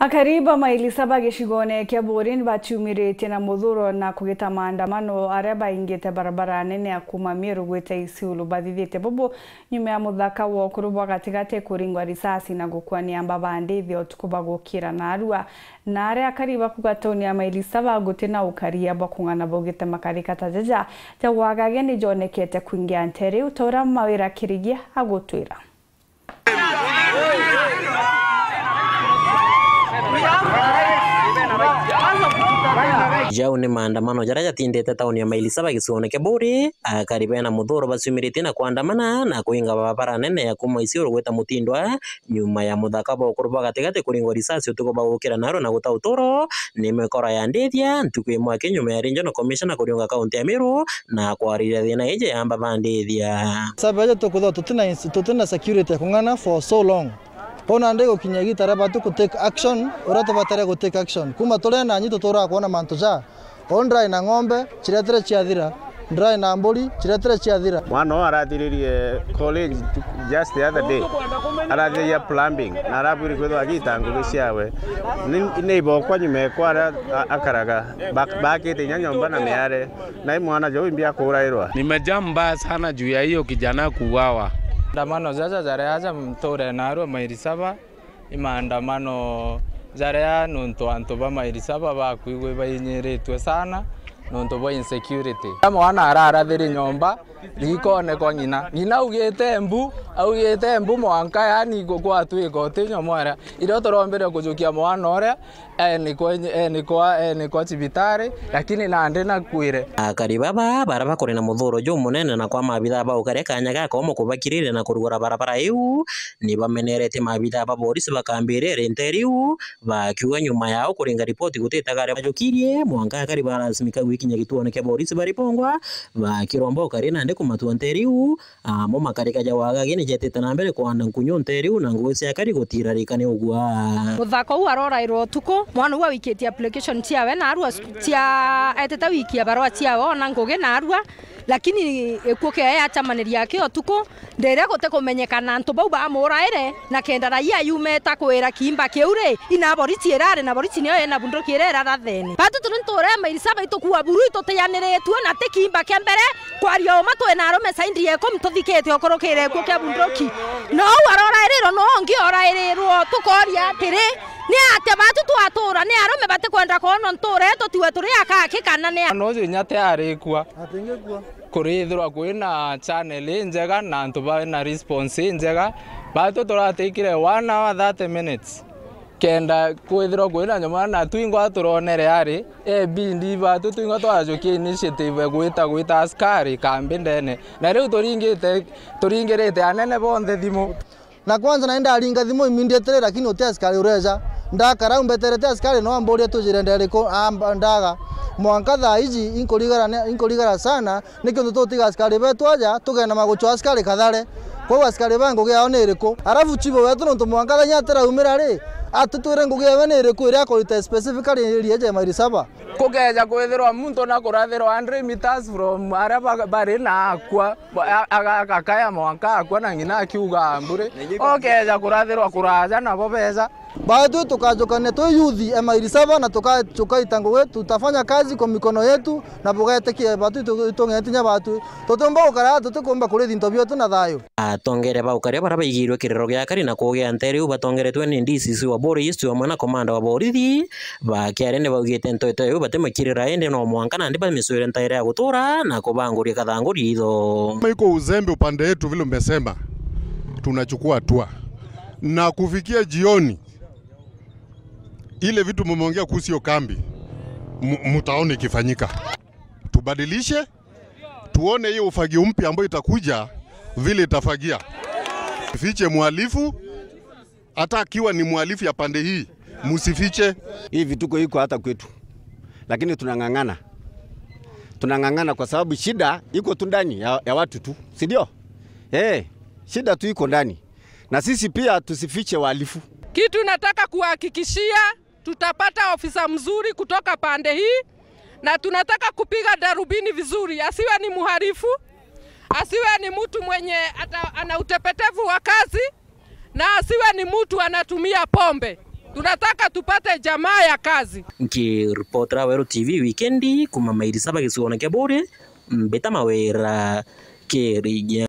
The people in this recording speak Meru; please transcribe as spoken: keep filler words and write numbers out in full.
Akari ba Maili Saba gicigone kia Buuri ni baciumiritie na muthuro na kugita maandamano aria baingite barabara nene ya kuuma Meru gwita Isiolo. Bathithite bubu nyuma ya muthaka wa ukuru bwa gatigati kuringwa risasi na gukua ni amba ba ndithi utuku bagukira naarua. Na aria akari bakuga tauni ya Maili Saba guti na ukaria bwa kung'ana baugite makarika ta jaja ja wagagia ni jonekete kwingia ntere iu, ta uria Mawira Kirigia agutwira. Jau ni maandamano jaria jatindite tauni ya Maili Saba gicione kia Buuri. Akari bena muthuro baciumiritie na kwandamana na kuinga barabara nene ya kuuma Isiolo gwita Mutindwa, nyuma ya muthaka bwa ukuru bwa gatigati kuringwa risasi utuku bagukira naarua na guta uturo. Ni mikora ya ndithia ntuku imwe aki nyuma ya Regional Commissioner kuriunga kaunti ya Meru na kwariria thina iji ya amba ba ndithia. Sababu aja tukuthwa tutina ins-, tutina security ya kung'ana for so long. Kwou nandi gukinya igita ria batu ku take action, uria tubatare gu take action. Kuma turi nanyi tuturaga kwona mantu ja. Uu ndrai na ng'ombe, ciretire ciathira. Ndrai na mburi, ciretire ciathira. Mwana uu arathiririe college just the other day. Arathiriria plumbing, na arabwiri kwithwa agita ngugi ciawe. Ni, ni ibokwa nyuma ekwa aria a-, akaraga. Bak-, bakite inya nyomba na miare. Na i mwana juu imbi akurairwa. Nimejaa mbaya sana juu ya hiyo kijana kuuawa. Maandamano jaja jaria aja mture naarua Maili Saba, i maandamano jaria nontu antu ba Maili Saba bakwigua bainyiritue sana nontu bwa insecurity. Mwana ararathiri nyomba, rikonekwa ng'ina. Ng'ina augite mbu, augite mbu mwanka, yani, gu-, gwatwika uti nyomwera. Irio turombire kujukia mwana uria, enikwa, enikwa, enikwa cibitari, lakini nandi nakwire. Akari baba, baria bakuri na muthuro jumunene na kwa maabithaa ba ukaria kanya gakomo kubakiriria na kurugura barabara iu, ni bameneretie maabithaa ba borisi bakambiriria ntere iu, bakiuga nyuma yao kuringa ripoti gutitaga aria bajukirie, mwanka akari barasimika gwikinya gituone kia borisi baripongwa, bakiromba ukari nandi kumatua ntere iu, Amo makarika ja wagagi ni jetite na mbere kwanda nkunyu nte riu, na ngugi cia akari gutirarika ni ugwa. Muthaka uu arorairwa utuku, mwana uu awikitie application ciawe, na arua cia, etite wikia barua ciawe, ona ngugi na arua, lakini gikuo kiawe acamaniria aki utuku, ndiria gutikumenyekana antu bau bamuraire, na kenda raia yumeta kwira kiimba kiu ri, ina boriti irari, na boriti niyo ina bunduki iria irarathene. Batu turi nture mairi saba itukua buru itutianiritue, na ti kiimba kia mbere, Kwaria uma, twi na arume saindi ya ikumi tuthikite ukurukire gikuo kia bunduki. No uu arorairirwe, no ungi orairirwe. Tukoria atiri, ni atia batu twatura? Ni arume batikwenda kwonwa ntura yetu, tiwe turi akaki kana ni a- Na uju inya ti arikua. Atingikua. Kurithirwa kwina channel injega na antu bena response injega, batu turatikire one hour thirty minutes. Kenda kwithirwa kwina nyuma, na twingwa turonere ari, ebindi batu twingwa twajukia initiative gwita, gwita askari kambi ndene. Na riu turingite, turingirite anene bonthe thimu. Na kwanza nani ndaringa thimu immediately, lakini uti askari ureja. Ndakara umbeterete askari no amburia tujire nderiku, amba-, ndaga. Mwanka thaa iji inkurigara ne-, inkurigara sana, Niki untu tutiga askari betu aja, tugenda maguchwa askari kathare? Kwou askari ba ngugi yao ni iriku? Arafu chibo wetu nontu mwanka thenya atiraumira ri, atutwire ngugi yawe ni iriku iria akurita specifically area eje mairi saba? Kukeja kwithirwa muntu na kurathirwa hundred meters from aria ba-, bari na akua, ba-, a-, aga-, agakaya mwanka akua na ng'ina akiuga mburi. Okeja kurathirwa kuraja nabo beja. Baatwi tukajukania twi yuthi e mairi saba na tuka-, tukaita ngugi, tutafanya kazi kwa mikono yetu na bugetikia baatwi tu-, itung'eti nya baatwi. Tutiumba gukara, tutikumba kurithi into bietu na thayu. Atongeria ba ukaria baria baigirwe kiriro gia akari na kugia ntere iu batongeretwe ni D C C wa Buuri East amwe na komanda wa borithi ba Kiari ni baugite nteto iu batimakirira indi no mwanka nandi bamicwire ntaira ya gutura na kubanguria kathangu ritho. Kama iko uzembe upande yetu vile umesema, tunachukua hatua. Na kufikia jioni, ile vitu mumeongea kuhusu hiyo kambi, mu-, mutaona ikifanyika. Tubadilishe, tuone hiyo ufagio mpya ambayo itakuja, vile itafagia. Fiche mhalifu, hata akiwa ni mhalifu ya pande hii, msifiche. Hii vituko iko hata kwetu, lakini tunang'ang'ana. Tunang'ang'ana kwa sababu shida iko tu ndani ya, ya watu tu, si ndio? Eh, shida tu iko ndani. Na sisi pia tusifiche wahalifu. Kitu nataka kuhakikishia, tutapata ofisa mzuri kutoka pande hii, na tunataka kupiga darubini vizuri. Asiwe ni mhalifu, asiwe ni mtu mwenye ata-, ana utepetevu wa kazi, na asiwe ni mtu anatumia pombe. Tunataka tupate jamaa ya kazi. Nkiripotera Weru T V wikendi kuma Mairi Saba gicigoone kia Buuri, Mbita Mawira, Kirigia.